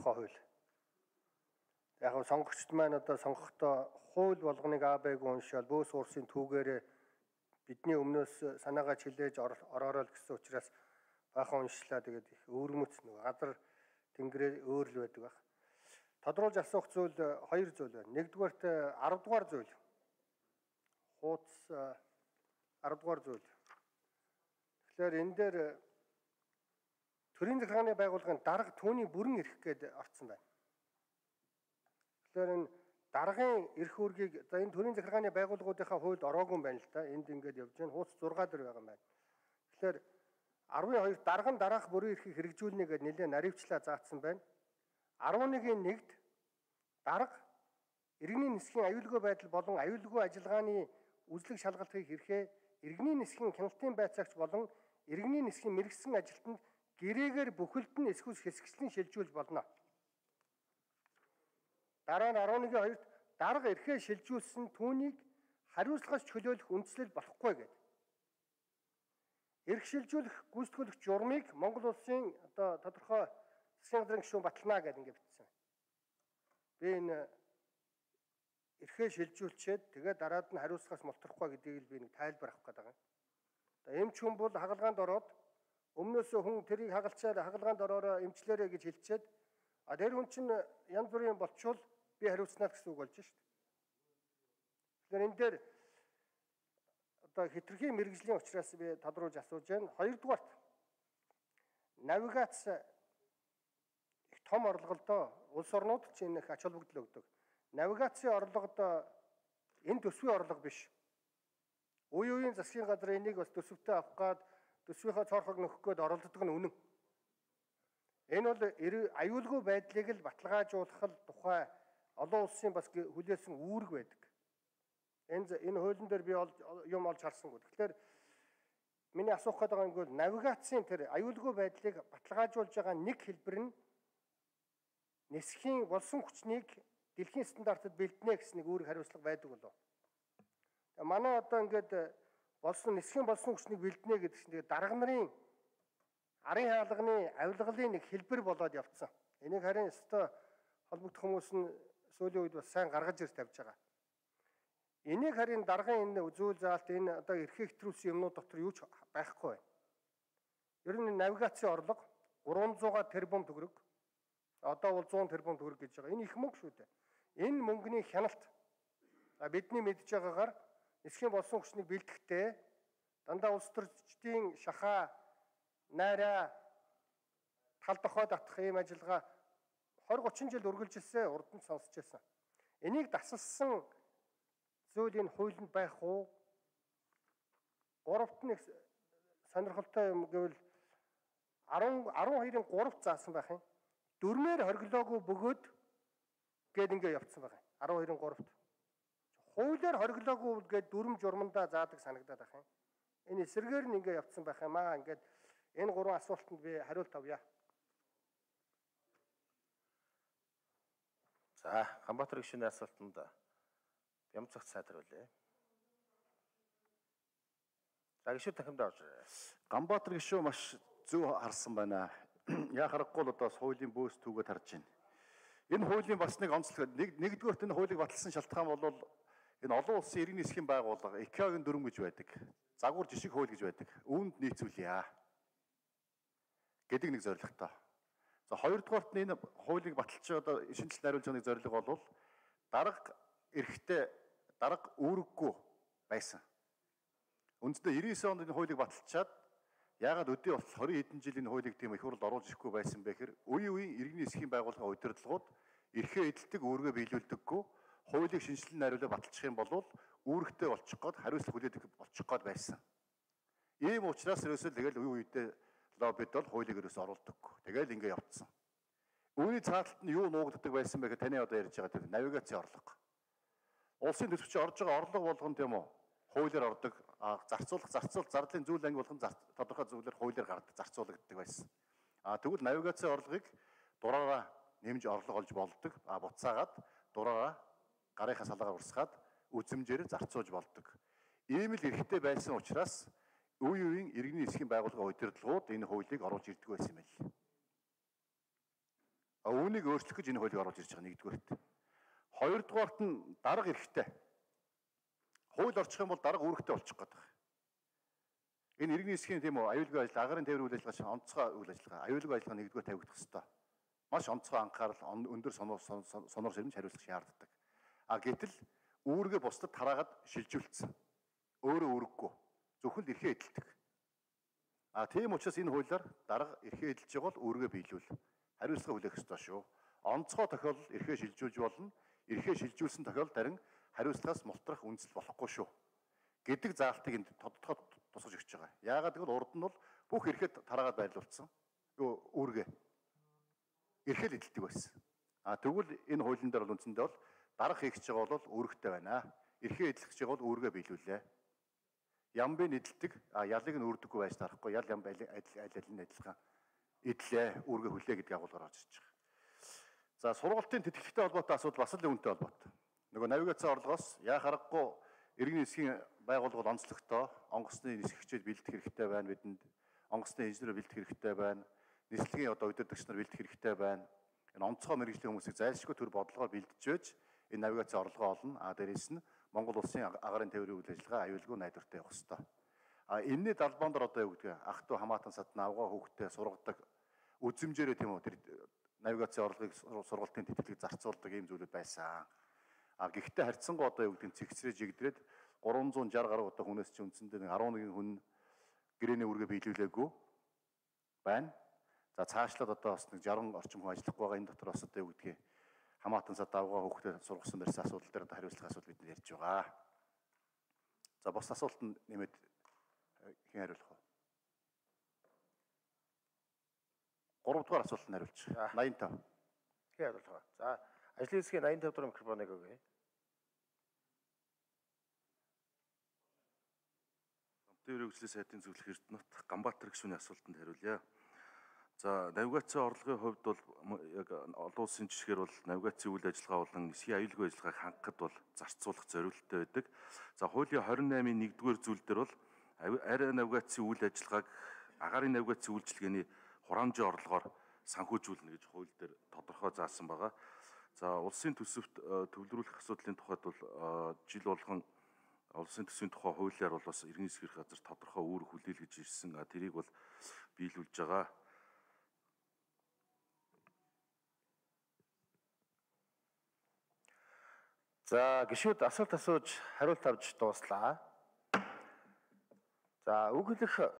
тухай хууль. Яг нь сонгогчд маань одоо сонгохдоо хууль болгоныг АБ-г уншаал бөөс уурсын түүгээрээ бидний өмнөөс санаагаа чилээж ороороо л гэсэн учраас баахан уншлаа. Тэгээд их өвөрмөц нөгөө газар тэнгэрээ өөр л байдаг баг. Тодруулж асуух зүйл хоёр зүйл байна. Нэгдүгээрт 10 дугаар зүйл. Хууц 10 дугаар зүйл. Тэгэхээр энэ дээр төрийн захиргааны байгууллагын дарга түүний бүрэн эрх гээд орцсон байна. Тэгэхээр энэ даргын эрх үүргийг за энэ төрийн захиргааны байгууллагуудынхаа хуульд ороогүй юм байна л да. Энд ингээд явж байна. Хууц 6 дээр байгаа юм байна. Тэгэхээр 12 дарган дараах бүрэн эрхийг хэрэгжүүлнэ гэдээ нэлээд наривчлаа заасан байна. 11-ийн 1-д дарга иргэний нисхийн аюулгүй байдал болон аюулгүй ажиллагааны үзлэг шалгалтыг хэрхээ иргэний нисхийн хяналтын байцаагч болон иргэний нисхийн мэрэгсэн ажилтнанд гэрээгээр бүхэлд нь эсхүүс хэсэгчлэн шилжүүлж болно. Дараа нь 11-ийн 2-д дарга эрхээ шилжүүлсэн түүнийг хариуцлагаас чөлөөлөх үндслэл болохгүй гэдэг. Эрх шилжүүлэх гүйцэтгүүлэх журмыг Монгол улсын одоо тодорхой засгийн газрын гишүүн батална гэдэг ингээд бичсэн. Би энэ эрхээ шилжүүлчихэд тэгээд дараад нь хариуцлагаас мултрахгүй гэдгийг л би нэг тайлбар авах гэдэг юм. Одоо эмч хүн бол хагалгаанд ороод өмнөөсөө хүн тэрийг хагалчаад хагалгаанд ороороо эмчлээрэй гэж хэлчихэд тэр хүн чинь янз бүрийн болчвол би хариуцнаа гэсэн үг болж шүү дээ. Тэгэхээр энэ дээр одоо хэтэрхий мэрэгжлийн учраас би тодруулж асууж байна. Хоёрдугаарт навигац их том орлогодоо улс орнууд чинь их ач холбогдол өгдөг. Навигацийн орлогод энэ төсвийн орлого биш. Үе үеийн засгийн газар энийг бас төсөвтэй авах гад төсвийнхөө цорхог нөхөх гээд оролддог нь үнэн. Энэ бол аюулгүй байдлыг л баталгаажуулах л тухай олон улсын бас хүлээсэн үүрэг байдаг. Энэ хуулийн дээр би юм олж харсангүй. Тэгэхээр миний асуух гээд байгаа юм бол навигацийн тэр аюулгүй байдлыг баталгаажуулж байгаа нэг хэлбэр нь нисхийн болсон хүчнийг дэлхийн стандартад бэлднэ гэсэн нэг үүрэг хариуцлага байдаг болов. Манай одоо ингээд нисхийн болсон хүчнийг бэлднэ гэдэг чинь дарга нарын арын хаалганы авилгалын нэг хэлбэр болоод явцсан. Энийг харин өстой холбогдох хүмүүс нь сүүлийн үед бас сайн гаргаж ирж тавьж байгаа. Энийг харин даргын энэ үзүүл заалт энэ одоо эрхээ хэтрүүлсэн юмнууд дотор юу ч байхгүй байна. Ер нь навигацийн орлого 300 тэрбум төгрөг. Одоо бол 100 тэрбум төгрөг гэж байгаа. Энэ их мөнгө шүү дээ. Энэ мөнгөний хяналт бидний мэдж байгаагаар нисхийн болсон хүчнийг бэлтгэхдээ дандаа улс төрчдийн шахаа найраа тал дохой татах ийм ажиллагаа 20-30 жил үргэлжилсэн, урд нь сонсч байсан. Энийг дасалсан зүйл энэ хуулинд байх уу? Гуравт нь сонирхолтой юм гэвэл 12-ын 3-т заасан байх юм. Дөрмээр хориглоогүй бөгөөд гээд ингэ явцсан байх юм. 12-ын 3-т. Хуулиар хориглоогүй гээд дүрм журмандаа заадаг санагдаад байх юм. Энэ эсрэгээр нь ингэ явцсан байх юм аа. Ингээд энэ гурван асуултанд би хариулт авъя. За, Ганбаатар гишүүний асуултанд Бямцагт сайдруулъя. За, гишүүд дахин давж ирээ. Ганбаатар гишүү маш зөв харсан байна. Яа харахгүй л одоо хуулийн бөөс түүгээд харж байна. Энэ хуулийн бас нэг онцлог нэгдүгээрт энэ хуулийг баталсан шалтгаан бол энэ олон улсын иргэний засгийн байгууллага ИКА-гийн дүрм гэж байдаг. Загвар жишг хууль гэж байдаг. Үүнд нийцүүлъя гэдэг нэг зорилготой. За хоёрдугаарт нь энэ хуулийг баталж одоо шинжилт найруулж байгаа нэг зорилго бол дарга эрхтэй дарга үүрэггүй байсан. Үндсэндээ 99 онд энэ хуулийг баталчаад яагаад өдөө болтол 20 хэдэн жил энэ хуулийг тийм их хурд оруулж ирэхгүй байсан бэ гэхээр үе үеийн иргэний засгийн байгууллагын удирдлагууд эрхээ эдэлдэг өөргөө биелүүлдэггүй хуулийг шинжилэн найруулаад баталчих юм бол үүрэгтэй болчих гээд хариуцлага хүлээдэг болчих гээд байсан. Ийм учраас ерөөсөө тэгэл үе үедээ лоббид бол хуулийг ерөөсөө оруулдаггүй. Тэгэл ингэ явцсан. Үүний цааталт нь юу нуугддаг байсан бэ гэхээр таны одоо ярьж байгаа тэр навигацийн орлого. Улсын төсөвч орж байгаа орлого болгон тийм үү? Хуулиар ордог, зарцуулах зарлалын зүйл анги болгон тодорхой зүйлээр хуулиар гардаг, зарцуулагддаг байсан. Тэгвэл навигацийн орлогыг дураараа нэмж орлого олж болдог. Буцаагаад дураараа гарынхаа салаагаар урсгаад үзэмжээр зарцуулж болдог. Ийм л эрхтэй байсан учраас үе үеийн иргэний засгийн байгууллагын удирдлагууд энэ хуулийг оруулж ирдэг байсан юм байна. Үүнийг өөрчлөх гэж энэ хуулийг оруулж ирж байгаа нэгдүгээрт. Хоёрдугаарт нь дарга эрэхтэй. Хууль орчих юм бол дарга үүрэгтэй болчих гээд байна. Энэ иргэний засгийн тийм үү аюулгүй ажил, агарын тээврийн үйл ажиллагаа, онцгой үйл ажиллагаа, аюулгүй ажиллагаа нэгдүгээр тавигдах хэрэгтэй. Маш онцгой анхаарал, өндөр сонор ширмж хариуцлах шаарддаг. Гэтэл үүргээ бусдад тараагаад шилжүүлсэн. Өөрөө үүрэггүй. Зөвхөн л эрхээ эдэлдэг. Тийм учраас энэ хуулиар дарга эрхээ эдэлж байгаа бол үүргээ биелүүл. Хариуцлага хүлээх ёстой шүү. Онцгой тохиолдолд эрхээ шилжүүлж болно. Эрхээ шилжүүлсэн тохиолдолд харин хариуцлагаас мултрах үндэслэл болохгүй шүү гэдэг заалтыг энд тодтогоод тусгаж өгч байгаа. Яагаад гэвэл урд нь бол бүх эрхээ тараагаад байрлуулсан. Үүргээ эрхээ л эдэлдэг байсан. Тэгвэл энэ хуулийн дээр бол үндсэндээ бол дарга хийх гэж байгаа бол үүрэгтэй байна. Эрхээ эдлэх гэж байгаа бол үүргээ биелүүлээ. Ямбын эдэлдэг, ялыг нь үрдэггүй байж тарахгүй, ял ям аль нь адилхан эдлээ, үүргээ хүлээ гэдэг агуулгаар орж ирж байгаа. За сургалтын тэтгэлэгтэй холбоотой асуудал бас л үүнтэй холбоотой. Нөгөө навигацийн орлогоос яа харахгүй иргэний засгийн байгууллага онцлогтой онгоцны нисгэгчид бэлдэх хэрэгтэй байна бидэнд. Онгоцны инженер бэлдэх хэрэгтэй байна. Нислэгийн удирдагч нар бэлдэх хэрэгтэй байна. Энэ онцгой мэргэжлийн хүмүүсийг зайлшгүй төр бодлогоор бэлдэж байж энэ навигацийн орлогоо олно. Дээрээс нь Монгол улсын агарын тээврийн үйл ажиллагаа аюулгүй найдвартай явах хэрэгтэй. Энэний далбаан дор одоо юу гэдэг ах トゥ хамаатан садна авгаа хүүхдээ сургадаг үзэмжээрээ тийм үү тэр навигацийн орлогыг сургалтын тэтгэлэг зарцуулдаг ийм зүйлүүд байсан. Гэхдээ харьцангуй одоо юу гэдэг цэгцрээ жигдрээд 360 гаруй одоо хүнээс чи үндсэндээ 11 хүн гэрээний үүргээ биелүүлээгүй байна. За цаашлаад одоо бас нэг 60 орчим хүн ажиллах байгаа энэ дотор бас одоо юу гэдгийг хамаатан сад авгаа хүүхдээ сургасан дээрс асуудал дээр хариуцлах асуудал бид ярьж байгаа. За бос асуултанд нэмээд хэн хариулах вэ? 3 дугаар асуултанд хариулж. 85. Хэн хариулах вэ? За ажлын хэсгийн 85 дугаар микрофоныг өгье. Тээврийн хөгжлийн сайдын зөвлөх Эрдэнэт Ганбаатар гишүүний асуултанд хариулъя. За навигацийн орлогын хувьд бол яг олон улсын жишгээр бол навигацийн үйл ажиллагаа болон эсгийн аюулгүй ажиллагааг хангахад бол зарцуулах зорилттой байдаг. За хуулийн 28-ийн 1-р зүйл дээр бол арай навигацийн үйл ажиллагааг агаарын навигацийн үйлчилгээний хураамжийн орлогоор санхүүжүүлнэ гэж хууль дээр тодорхой заасан байгаа. За улсын төсөвт төвлөрүүлэх асуудлын тухайд бол жил болгон улсын төсвийн тухай хуулиар бол бас иргэний засгийн газар тодорхой үүрэг хүлээлгэж ирсэн. Тэрийг бол биелүүлж байгаа. За гишүүд асуулт асууж хариулт авч дууслаа. За үг хэлэх